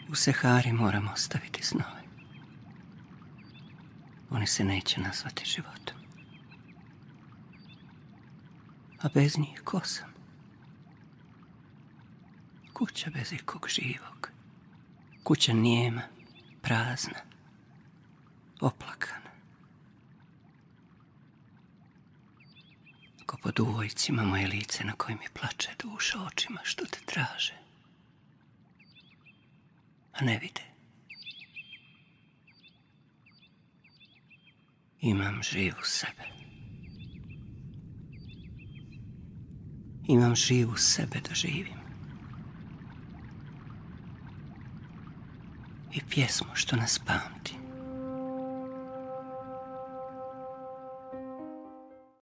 U Sehari moramo ostaviti snove. Oni se neće nazvati životom. A bez njih ko sam? Kuća bez ikog živog. Kuća nijema, prazna, oplakana. Ko pod uvojcima moje lice na kojem mi plače duša očima što te traže. A ne vide. Imam živu sebe. Imam živu sebe da živim. I pjesmu što nas pamti.